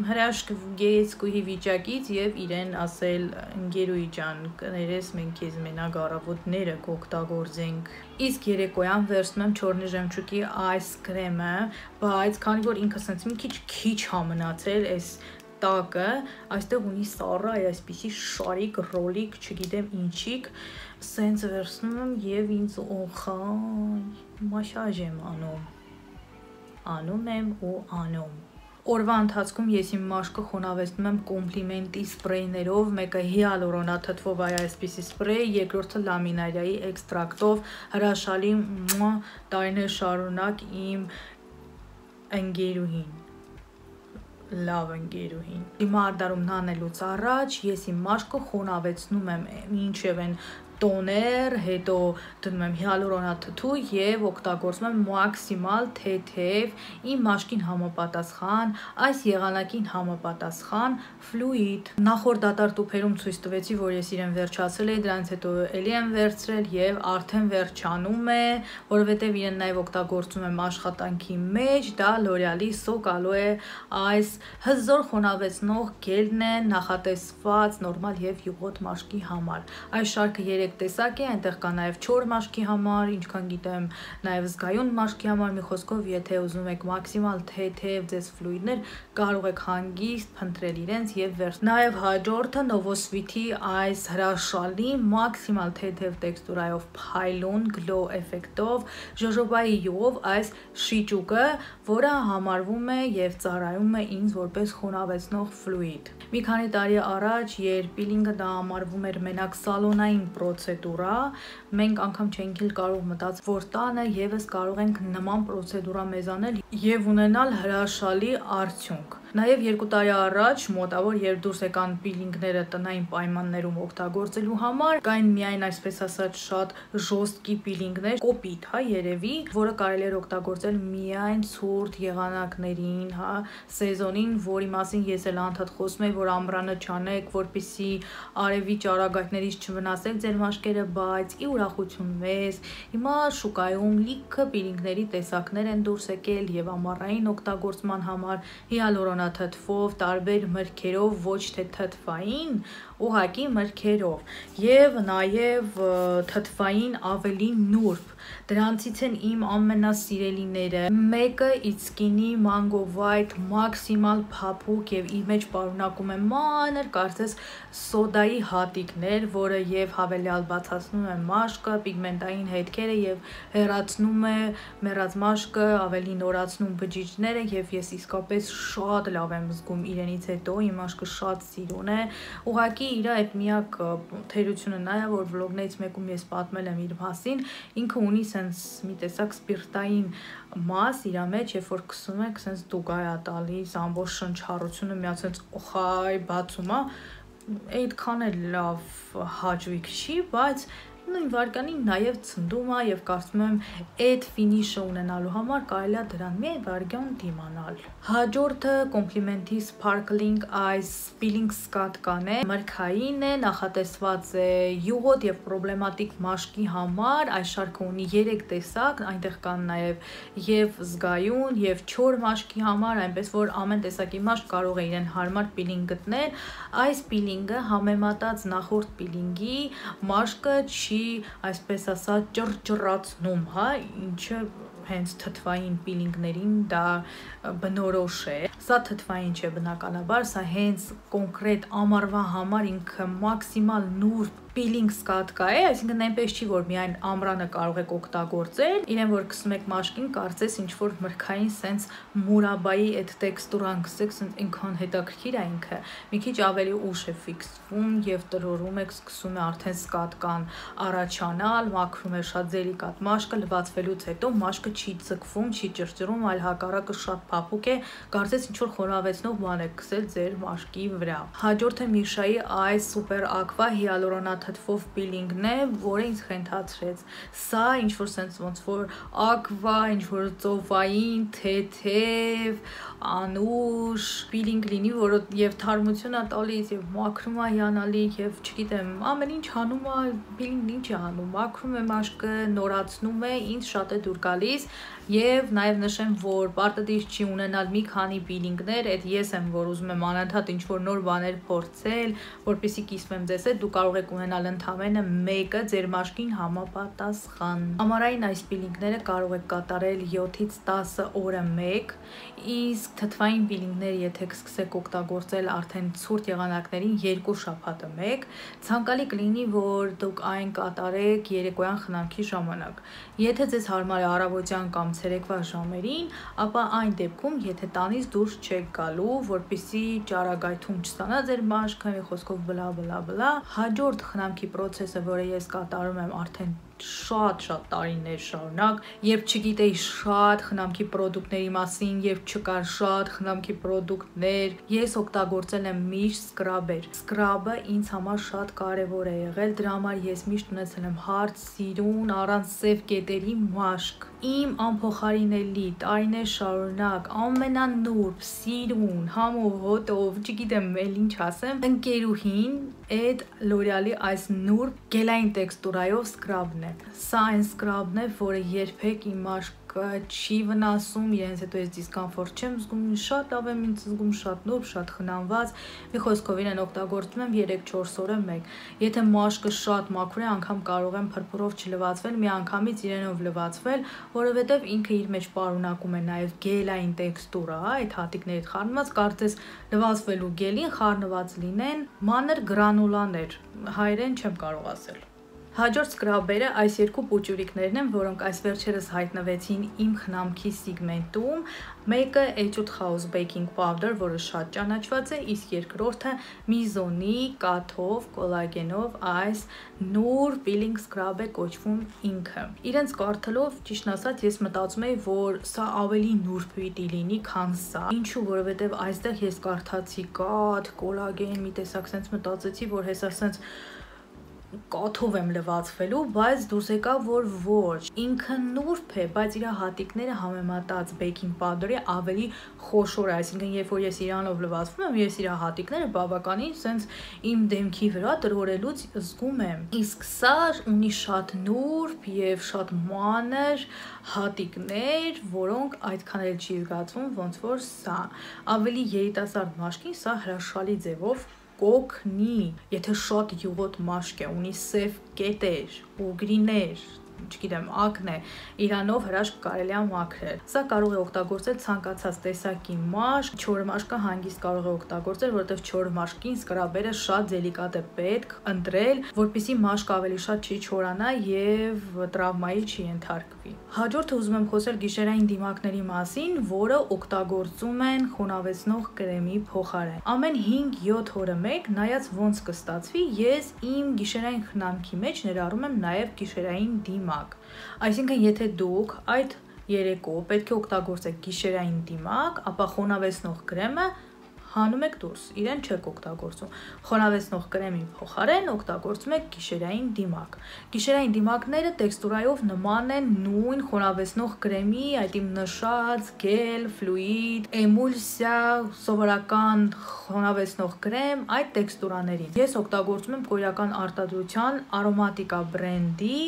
հրաշք գեղեցկուհի վիճակից եւ իրեն ասել ընկերուի ջան, կներես մենք քեզ մենակ առավոտները կօգտագործենք։ Իսկ երեկոյան վերցնում եմ չորնի ժեմչուկի այս կրեմը, բայց քանի որ ինքը sense մի քիչ հա մնացել, այս տակը այստեղ ունի սառը այսպիսի շարիկ, ռոլիկ, չգիտեմ ինչիկ, սենց վերցնում եմ եւ ինձ օխայ մաշաժ եմ անում եմ ու անում։ Օրվա ընթացքում ես իմ մաշկը խոնավեցնում եմ կոմպլիմենտի սպրեյներով, մեկը հիալուրոնաթթվով այսպիսի սպրեյ, երկրորդը լամինարիայի էքստրակտով, հրաշալի տարիներ շարունակ իմ ընկերուհին, լավ ընկերուհին։ Հիմա արդարում նանելուց առաջ ես իմ մաշկը խոնավեցնում եմ մինչև են տոներ, հետո դնում եմ հիալուրոնաթթու եւ օգտագործում եմ մաքսիմալ թեթև իմ մաշկին համապատասխան, այս եղանակին համապատասխան ֆլուիդ։ Նախորդ դատարկ ցույց տվեցի, որ ես իրեն վերջացրել էի, դրանից հետո էլի եմ վերցրել եւ արդեն վերջանում է, որովհետեւ իրեն նաեւ օգտագործում եմ աշխատանքի մեջ, դա L'Oreal-ի Soc Aloe այս հզոր խոնավեցնող գելն է, նախատեսված նորմալ եւ յուղոտ մաշկի համար։ Այս շարքը 3 տեսակ է, այնտեղ կա նաև չոր մաշկի համար, ինչքան գիտեմ, նաև զգայուն մաշկի համար, մի խոսքով, եթե ուզում եք մաքսիմալ թեթև ձեզ ֆլուիդներ, կարող եք հանգիստ փնտրել իրենց եւ վերցնել։ Նաև հաջորդը Novosweet-ի այս հրաշալի մաքսիմալ թեթև տեքստուրայով փայլուն գլո էֆեկտով ժոժոբայի յուղով այս շիճուկը, որը համարվում է եւ ծառայում է ինձ որպես խոնավեցնող ֆլուիդ։ Մի քանի տարի առաջ, երբ պիլինգը դա համարվում էր մենակ սալոնային պրոցեդուրա, մենք անգամ չենք կարող մտածել, որ տանը եւս կարող ենք նման պրոցեդուրա մեզ անել եւ ունենալ հրաշալի արդյունք։ Նաև 2 տարի առաջ մոտավոր երբ դուրս եկան պիլինգները տնային պայմաններում օգտագործելու համար, կային միայն այսպես ասած շատ ժոստկի պիլինգներ, կոպիտ, երևի, որը կարելի էր օգտագործել միայն ցուրտ եղանակներին, սեզոնին, որի մասին ես էլ անդադ խոսում եմ, որ ամռանը չանեք, որպեսզի արևի ճառագայթներից չվնասեք ձեր մաշկերը, բայց ի ուրախություն մեզ, հիմա շուկայում լիքը պիլինգների տեսակներ են դուրս եկել եւ ամառային օգտագործման համար հիալուրոնաթթվով, տարբեր մրգերով, ոչ թե թթվային, ուղղակի մրգերով եւ նաեւ թթվային ավելի նուրբ։ Դրանցից են իմ ամենասիրելիները։ Մեկը It's Skinny Mango White մաքսիմալ փափուկ եւ իր մեջ պարունակում է մանր, կարծես սոդայի հատիկներ, որը եւ հավելյալ բացացնում է մաշկը, պիգմենտային հետքերը եւ հեռացնում է մեռած մաշկը, ավելի նորացնում բջիջները եւ ես իսկապես շատ լավ եմ զգում իրենից հետո, իմ մաշկը շատ սիրուն է։ Ուղղակի իր այդ միակ թերությունը նա է, որ վլոգներից մեկում ես պատմել եմ իր մասին, ինքը ունի սենց մի տեսակ սպիրտային մաս իր մեջ, երբ որ քսում եք, սենց դուգայ է տալիս, ամբողջ շնչառությունը միած սենց օխայ բացում է, այդքան էլ լավ հաճույք չի, բայց նույն վարկանին նաև ցնդում է եւ կարծում եմ այդ ֆինիշը ունենալու համար կարելի է դրան մի վարքյան դիմանալ։ Հաջորդը Compliment-ի Sparkling Eyes Peeling Սկատկան է, մրգային է, նախատեսված է յուղոտ եւ պրոբլեմատիկ մաշկի համար, այս շարքը ունի 3 տեսակ, այնտեղ կան նաև եւ զգայուն եւ չոր մաշկի համար, այնպես որ ամեն տեսակի մաշկ կարող է իրեն հարմար պիլինգ գտնել։ Այս պիլինգը համեմատած նախորդ պիլինգի մաշկը չի այսպես ասած ճռճռացնում, ինչը հենց թթվային պիլինգներին դա բնորոշ է։ Սա թթվային չէ բնականաբար, սա հենց կոնկրետ ամառվա համար ինքը մաքսիմալ նուրբ պիլինգ սկատկա է, այսինքն այնպես չի, որ միայն ամռանը կարող եք օգտագործել, իրեն որ քսում եք մաշկին, կարծես ինչ որ մրգային սենց մուրաբայի այդ տեքստուրան գսեք, սենց ինքան հետաքրքիր է ինքը, մի քիչ ավելի ուշ է ֆիքսվում եւ տրորում եք, սկսում է արդեն սկատկան առաջանալ, մաքրում է շատ դելիկատ մաշկը, լվացվելուց հետո մաշկը չի ձգվում, չի ճռճռում, այլ հակառակը շատ փափուկ է, կարծես ինչ որ խոնավեցնող բան եք քսել ձեր մաշկի վրա։ Հաջորդը Միշայի այս սուպեր ակվա հիալուրոնաթթվով պիլինգն է, որը ինձ խենթացրեց։ Սա ինչ որ sense ոնց որ ակվա, ինչ որ ծովային, թեթև, անուշ պիլինգ լինի, որը եւ թարմություն է տալիս, եւ մաքրում է հիանալի, եւ չգիտեմ, ամեն ինչ հանում է, պիլինգն ինչ է անում, մաքրում է մաշկը, նորացնում է, ինձ շատ է դուր գալիս, եւ նաեւ նշեմ, որ պարտադիր չի ունենալ մի քանի պիլինգներ, այդ ես եմ, որ ուզում եմ անընդհատ ինչ որ նոր բաներ փորձել, որպեսզի կիսվեմ ձեզ հետ, դու կարող եք ունենալ ունենալ ընդամենը մեկը ձեր մաշկին համապատասխան։ Ամառային այս պիլինգները կարող եք կատարել 7-ից 10 օրը մեկ, իսկ թթվային պիլինգները եթե կսկսեք օգտագործել արդեն ցուրտ եղանակներին 2 շաբաթը մեկ, ցանկալի կլինի, որ դուք այն կատարեք երեկոյան խնամքի ժամանակ։ Եթե ձեզ հարմար է առավոտյան կամ ցերեկվա ժամերին, ապա այն դեպքում, եթե տանից դուրս չեք գալու, որպեսզի ճարագայթում չստանա ձեր մաշկը, մի խոսքով բլա, հաջորդ խնամքի process-ը, որը ես կատարում եմ արդեն շատ տարիներ շարունակ, երբ չգիտեի շատ խնամքի պրոդուկտների մասին, երբ չկար շատ խնամքի պրոդուկտներ, ես օգտագործել եմ միշտ սկրաբեր։ Սկրաբը ինձ համար շատ կարևոր է եղել, դրա համար ես միշտ ունեցել եմ հարթ, սիրուն, առանց սև կետերի մաշկ։ Իմ անփոխարինելի տարիներ շարունակ ամենանուրբ, սիրուն, համով, հոտով, չգիտեմ էլ ինչ ասեմ, ընկերուհին այդ L'Oreal-ի այս նուրբ գելային տեքստուրայով սկրաբն է։ Սա այն սկրաբն է, որը երբեք իմ մաշկը չի վնասում, իրենց հետո ես դիսկոմֆորտ չեմ զգում, շատ լավ եմ ինձ զգում, շատ նուրբ, շատ խնամված, մի խոսքով իրեն օգտագործում եմ 3-4 օրը մեկ։ Եթե մաշկը շատ մաքուր է, անգամ կարող եմ փրփուրով չլվացվել, մի անգամից իրենով լվացվել, որովհետև ինքը իր մեջ պարունակում է նաև գելային տեքստուրա, այդ հատիկներից խառնված, կարծես լվացվելու գելին խառնված լինեն մանր գրանուլաներ, հայերեն չեմ կարող ասել։ Հաջորդ սկրաբերը այս երկու պուճուրիկներն են, որոնք այս վերջերս հայտնվեցին իմ խնամքի սիգմենտում, մեկը Etude House Baking Powder, որը շատ ճանաչված է, իսկ երկրորդը Mizone կաթով, կոլագենով այս նուրբ peeling scrub է կոչվում ինքը։ Իրենց կարդալով, ճիշտն ասած, ես մտածում էի, որ սա ավելի նուրբ պիտի լինի, քան սա։ Ինչու, որովհետև այստեղ ես կարդացի կաթ, կոլագեն, մի տեսակ sense մտածեցի, որ հեսա sense կաթով եմ լվացվելու, բայց դուրս եկավ, որ ոչ, ինքը նուրբ է, բայց իր հատիկները համեմատած baking powder-ի ավելի խոշոր է, այսինքն երբ որ ես իրանով լվացվում եմ, ես իր հատիկները բավականին sense իմ դեմքի վրա տրորելուց զգում եմ, իսկ սա ունի շատ նուրբ եւ շատ մանր հատիկներ, որոնք այդքան էլ չի զգացվում, ոնց որ սա, ավելի երիտասարդ մաշկին սա հրաշալի ձևով կօգնի, եթե շատ յուղոտ մաշկ է, ունի սև կետեր, ուգրիներ, չգիտեմ, ակնե, իրանով հրաշք կարելի է մաքրել։ Սա կարող է օգտագործել ցանկացած տեսակի մաշկ, չոր մաշկը հանգիստ կարող է օգտագործել, որովհետև չոր մաշկին սկրաբերը շատ դելիկատ է պետք ընտրել, որպեսզի մաշկը ավելի շատ չի չորանա եւ տրավմայի չի ենթարկվի։ Հաջորդը ուզում եմ խոսել գիշերային դիմակների մասին, որը օգտագործում են խոնավեցնող կրեմի փոխարեն։ Ամեն 5-7 օրը մեկ, նայած ոնց կստացվի, ես իմ գիշերային խնամքի մեջ ներառում եմ նաև գիշերային դիմակ։ Այսինքն, եթե դուք այդ երեկո պետք է օգտագործեք գիշերային դիմակ, ապա խոնավեցնող կրեմը հանում եք դուրս, իրեն չեք օգտագործում։ Խոնավեցնող կրեմի փոխարեն օգտագործում եք գիշերային դիմակ։ Գիշերային դիմակները տեքստուրայով նման են նույն խոնավեցնող կրեմի, այդ իմ նշած գել, ֆլուիդ, էմուլսիա, սովորական խոնավեցնող կրեմ, այդ տեքստուրաներին։ Ես օգտագործում եմ կորեական արտադրության Aromatica բրենդի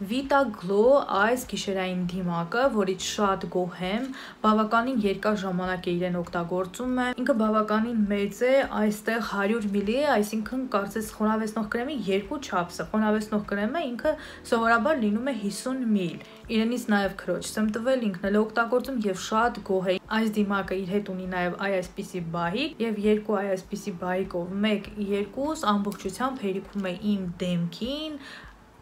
Vita Glow այս գիշերային դիմակը, որից շատ գոհ եմ, բավականին երկար ժամանակ է իրեն օգտագործում եմ, ինքը բավականին մեծ է, այստեղ 100 մլ է, այսինքն կարծես խոնավեցնող կրեմի 2 չափսը, խոնավեցնող կրեմը ինքը սովորաբար լինում է 50 մլ։ Իրենից նաև քրոջս եմ տվել, ինքն էլ օգտագործում եւ շատ գոհ է։ Այս դիմակը իր հետ ունի նաև այսպիսի բահիկ եւ երկու այսպիսի բահիկով 1-2 ամբողջությամբ հերիքում է իմ դեմքին,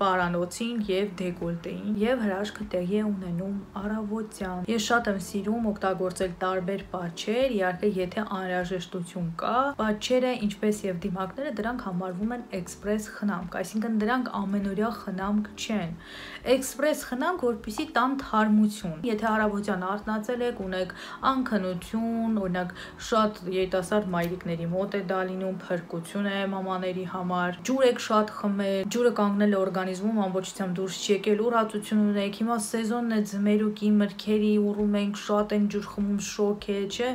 պարանոցին եւ դեկոլտեին եւ հրաշքը տեղի է ունենում առավոտյան։ Ես շատ եմ սիրում օգտագործել տարբեր պատչեր, իհարկե եթե անհրաժեշտություն կա, պատչերը ինչպես եւ դիմակները դրանք համարվում են էքսպրես խնամք, այսինքն դրանք ամենօրյա խնամք չեն։ Էքսպրես խնամք, որպեսզի տան թարմություն։ Եթե առավոտյան արթնացել եք, ունեք անքնություն, օրինակ շատ երիտասարդ մայրիկների մոտ է դա լինում, փրկություն է մամաների համար, ջուր եք շատ խմել, ջուրը կանգնել է օրգանիզմում ամբողջությամբ դուրս չի եկել, ուրացություն ունեք, հիմա սեզոնն է ձմերուկի, մրգերի, ուռում ենք, շատ են ջուր խմում, շոկ է, չէ,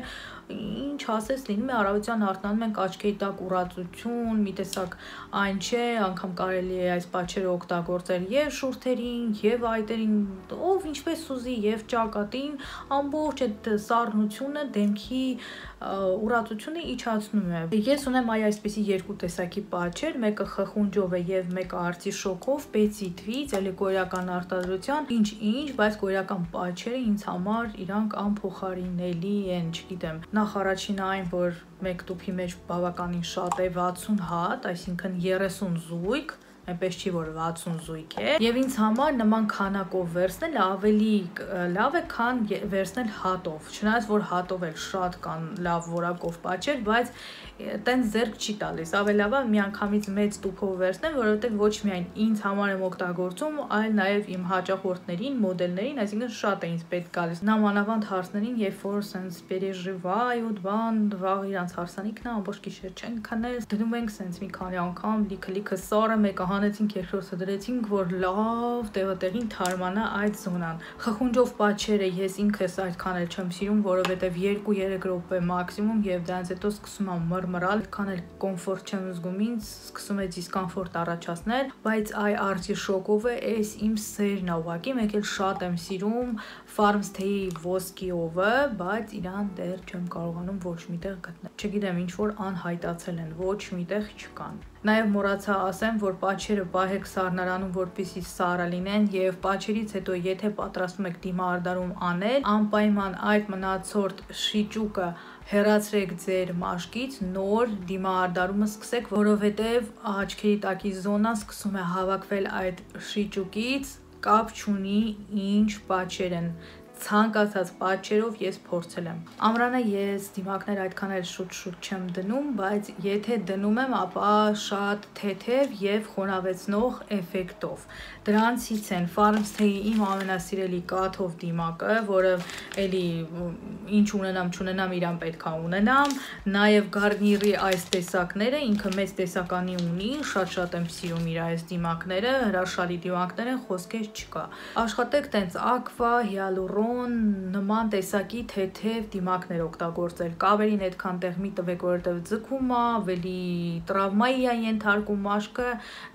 ինչ ասես լինում է առավոտյան արթնանում ենք աչքերի տակ ուրացություն, մի տեսակ այն չէ, անգամ կարելի է այս պատճերը օգտագործել եւ շուրթերին, եւ այտերին, ով ինչպես ուզի, եւ ճակատին, ամբողջ այդ սառնությունը դեմքի ուրացությունը իջացնում է։ Ես ունեմ այսպիսի երկու տեսակի պատճեր, մեկը խխունջով է եւ մեկը արտիշոկով, պեցիտվից, էլի կորեական արտադրության, ինչ, բայց կորեական պատճերը ինձ համար իրանք անփոխարինելի են, չգիտեմ։ Նախ առաջինը այն, որ մեկ տուփի մեջ բավականին շատ է 60 հատ, այսինքն 30 զույգ, այնպես չի որ 60 զույգ է, եւ ինձ համար նման քանակով վերցնել ավելի լավ է, քան վերցնել հատով։ Չնայած որ հատով էլ շատ կան լավ որակով պատճեր, բայց տենց ձեռք չի տալիս։ Ավելի լավ է միանգամից մեծ տուփով վերցնել, որովհետեւ ոչ միայն ինձ համար եմ օգտագործում, այլ նաեւ իմ հաճախորդներին, մոդելներին, այսինքն շատ է ինձ պետք գալիս։ Նամանավանդ հարցներին, երբ որ sense переживают, բան, վաղ իրանց հարսանիքն է, ամբողջ գիշեր չեն քնել, դնում ենք sense մի քանի անգամ լիքը սարը մեկը հանեցինք, երկրորդը դրեցինք, որ լավ տեղին թարմանա այդ զոնան։ Խխունջով պատճերը ես ինքս այդքան էլ չեմ սիրում, որովհետեւ 2-3 րոպե մաքսիմում եւ դրանից հետո սկսում եմ մռմռալ, քան էլ կոմֆորտ չեմ զգում ինձ, սկսում է դիսկոմֆորտ առաջացնել, բայց այ արտիշոկովը էս իմ սերն է ուղղակի, մեկ էլ շատ եմ սիրում Farms Tea ոսկիովը, բայց իրան դեռ չեմ կարողանում ոչ միտեղ գտնել։ Չգիտեմ, ինչ որ անհայտացել են, ոչ միտեղ չկան։ Նաև մոռացա ասեմ, որ պատճերը պահեք սառնարանում, որպեսզի սառը լինեն, եւ պատճերից հետո եթե պատրաստում եք դիմահարդարում անել, անպայման այդ մնացորդ շիճուկը հեռացրեք ձեր մաշկից, նոր դիմահարդարումը սկսեք, որովհետեւ աչքերի տակի զոնան սկսում է հավաքվել այդ շիճուկից, կապ չունի ինչ պատճեր են։ Ցանկացած պատճերով ես փորձել եմ։ Ամռանը ես դիմակներ այդքան էլ շուտ չեմ դնում, բայց եթե դնում եմ, ապա շատ թեթև եւ խոնավեցնող էֆեկտով։ Դրանցից են Farms Tea-ի իմ ամենասիրելի կաթով դիմակը, որը էլի ինչ ունենամ, իրան պետքա ունենամ, նաեւ Garnier-ի այս տեսակները, ինքը մեծ տեսականի ունի, շատ եմ սիրում իր այս դիմակները, հրաշալի դիմակներ են, խոսքեր չկա։ Աշխատեք տենց aqua, hyaluron նման տեսակի թեթև դիմակներ օգտագործել։ Կավերին այդքան տեղ մի տվեք, որովհետև ձգում է, ավելի տրավմայի է ենթարկում մաշկը,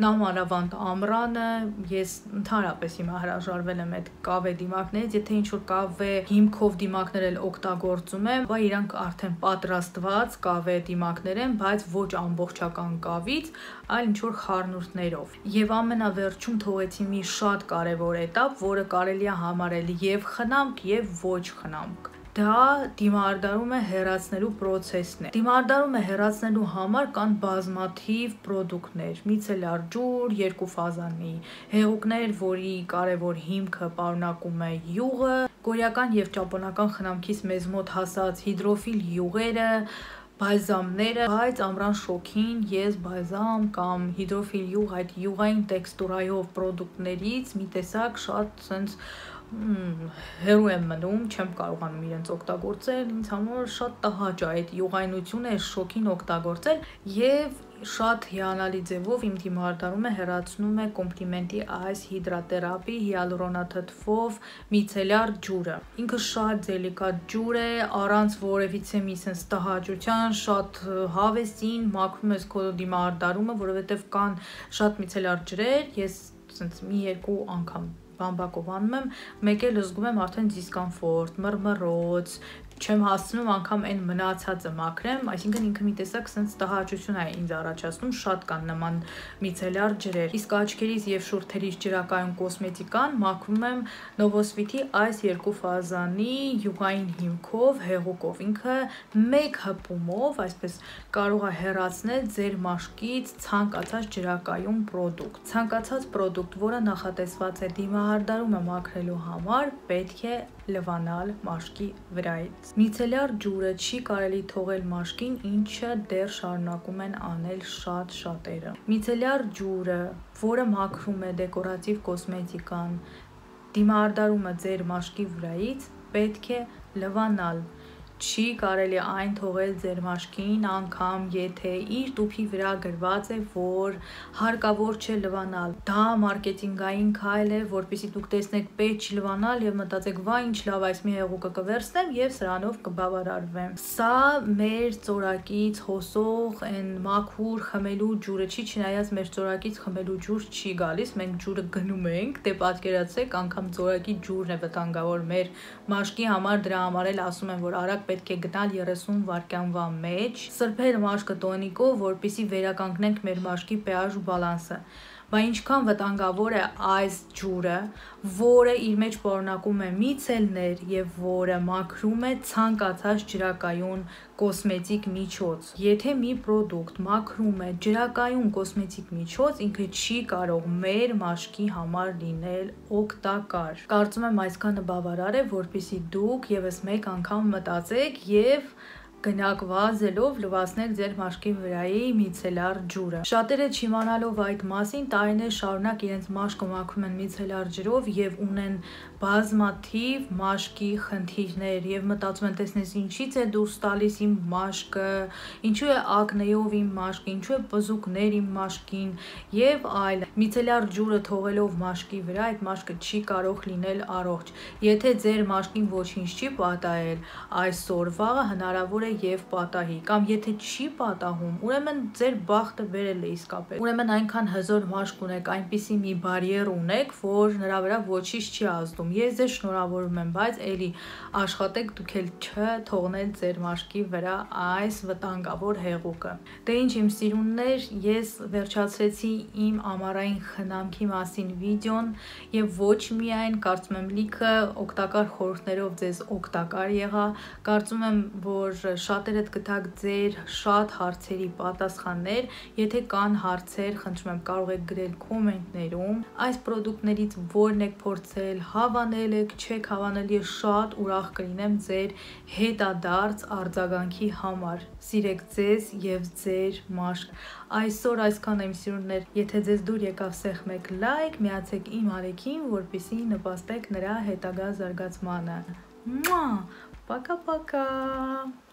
նամանավանդ ամռանը։ Ես ընդհանրապես հիմա հրաժարվել եմ այդ կավե դիմակներից, եթե ինչ-որ կավե հիմքով դիմակներ էլ օգտագործում եմ, բայց իրանք արդեն պատրաստված կավե դիմակներ են, բայց ոչ ամբողջական կավից, այլ ինչ-որ խառնուրդներով։ Եվ ամենավերջում թողեցի մի շատ կարևոր էտապ, որը կարելի է համարել եւ խնամք, եւ ոչ խնամք։ Դա դիմահարդարումը հեռացնելու process-ն է։ Դիմահարդարումը հեռացնելու համար կան բազմաթիվ պրոդուկտներ՝ միցելյար ջուր, երկուֆազանի հեղուկներ, որի կարևոր հիմքը պարունակում է յուղը, կորեական եւ ճապոնական խնամքից մեզ մոտ հասած հիդրոֆիլ յուղերը, բալզամները, բայց ամռան շոքին ես բալզամ կամ հիդրոֆիլ յուղ, այդ յուղային տեքստուրայով պրոդուկտներից մի տեսակ շատ sense հերու եմ մնում, չեմ կարողանում իրենց օգտագործել, ինձ համար շատ տհաճ է այդ յուղայնությունը, այս շոքին օգտագործել եւ շատ հիանալի ձևով իմ դիմահարդարումը հեռացնում է կոմպլիմենտի այս հիդրատերապի հիալուրոնաթթվով միցելյար ջուրը։ Ինքը շատ դելիկատ ջուր է, առանց որևիցե մի sense տհաճության, շատ հավեսին մաքրում ես քո դիմահարդարումը, որովհետեւ կան շատ միցելյար ջրեր, ես sense մի երկու անգամ բամբակով անում եմ, մեկ էլ զգում եմ արդեն դիսկոմֆորտ, մռմռոց, չեմ հասցնում անգամ այն մնացածը մաքրեմ, այսինքն ինքը մի տեսակ sense տհաճություն է ինձ առաջացնում, շատ կան նման միցելյար ջրեր։ Իսկ աչքերից եւ շուրթերից ջրակայուն կոսմետիկան մաքրում եմ Novosvit-ի այս երկու ֆազանի յուղային հիմքով, հեղուկով։ Ինքը մեկ հպումով, այսպես կարող է հեռացնել ձեր մաշկից ցանկացած ջրակայուն պրոդուկտ։ Ցանկացած պրոդուկտ, որը նախատեսված է դիմահարդարումը մաքրելու համար, պետք է լվանալ մաշկի վրայից։ Միցելյար ջուրը չի կարելի թողել մաշկին, ինչը դեռ շարունակում են անել շատ շատերը։ Միցելյար ջուրը, որը մաքրում է դեկորատիվ կոսմետիկան, դիմահարդարումը ձեր մաշկի վրայից պետք է լվանալ։ Չի կարելի այն թողել ձեր մաշկին, անգամ եթե իր տուփի վրա գրված է, որ հարկավոր չէ լվանալ։ Դա մարքեթինգային քայլ է, որպեսզի դուք տեսնեք պետք չի լվանալ եւ մտածեք, վայ ինչ լավ, այս մի հեղուկը կվերցնեմ եւ սրանով կբավարարվեմ։ Սա մեր ծորակից հոսող այն մաքուր խմելու ջուրը չի, չնայած մեր ծորակից խմելու ջուր չի գալիս, մենք ջուրը գնում ենք, դե պատկերացրեք, անգամ ծորակի ջուրն է վտանգավոր մեր մաշկի համար, դրա համար էլ ասում են, որ արագ պետք է գնալ 30 վայրկյանվա մեջ, սրբել մաշկը տոնիկով, որպեսզի վերականգնենք մեր մաշկի pH բալանսը։ Բա ինչքան վտանգավոր է այս ջուրը, որը իր մեջ պարունակում է միցելներ եւ որը մաքրում է ցանկացած ջրակայուն կոսմետիկ միջոց։ Եթե մի պրոդուկտ մաքրում է ջրակայուն կոսմետիկ միջոց, ինքը չի կարող մեր մաշկի համար լինել օգտակար։ Կարծում եմ այսքանը բավարար է, որպեսզի դուք եւս մեկ անգամ մտածեք եւ գնաք վազելով լվացնել ձեր մաշկի վրայի միցելար ջուրը։ Շատերը չիմանալով այդ մասին տարիներ շարունակ իրենց մաշկը մաքրում են միցելար ջրով եւ ունեն բազմաթիվ մաշկի խնդիրներ եւ մտածում են, տեսնես ինչից է դուրս տալիս իմ մաշկը, ինչու է ակնեով իմ մաշկը, ինչու է բզուկներ իմ մաշկին եւ այլն։ Միցելար ջուրը թողելով մաշկի վրա այդ մաշկը չի կարող լինել առողջ։ Եթե ձեր մաշկին ոչինչ չի պատահել, այսօր վաղը հնարավոր է եւ պատահի, կամ եթե չի պատահում, ուրեմն ձեր բախտը վերել է իսկապես։ Ուրեմն այնքան հզոր մաշկ ունեք, այնպիսի մի բարիեր ունեք, որ նրա վրա ոչինչ չի ազդում։ Ես ձեզ շնորհավորում եմ, բայց էլի աշխատեք դուք էլ չթողնել ձեր մաշկի վրա այս վտանգավոր հեղուկը։ Դե ինչ իմ սիրուններ, ես վերջացրեցի իմ ամառային խնամքի մասին վիդեոն եւ ոչ միայն, կարծում եմ լիքը օգտակար խորհուրդներով ձեզ օգտակար եղա, կարծում եմ, որ շատերդ գտաք ձեր շատ հարցերի պատասխաններ, եթե կան հարցեր, խնդրում եմ կարող եք գրել կոմենտներում, այս պրոդուկտներից որն եք փորձել, հավանել եք, չեք հավանել, ես շատ ուրախ կլինեմ ձեր հետադարձ արձագանքի համար։ Սիրեք ձեզ եւ ձեր մաշկ։ Այսօր այսքան եմ սիրուններ, եթե ձեզ դուր եկավ սեղմեք լայք, միացեք իմ ալիքին, որպեսզի նպաստեք նրա հետագա զարգացմանը։ Պակա-պակա։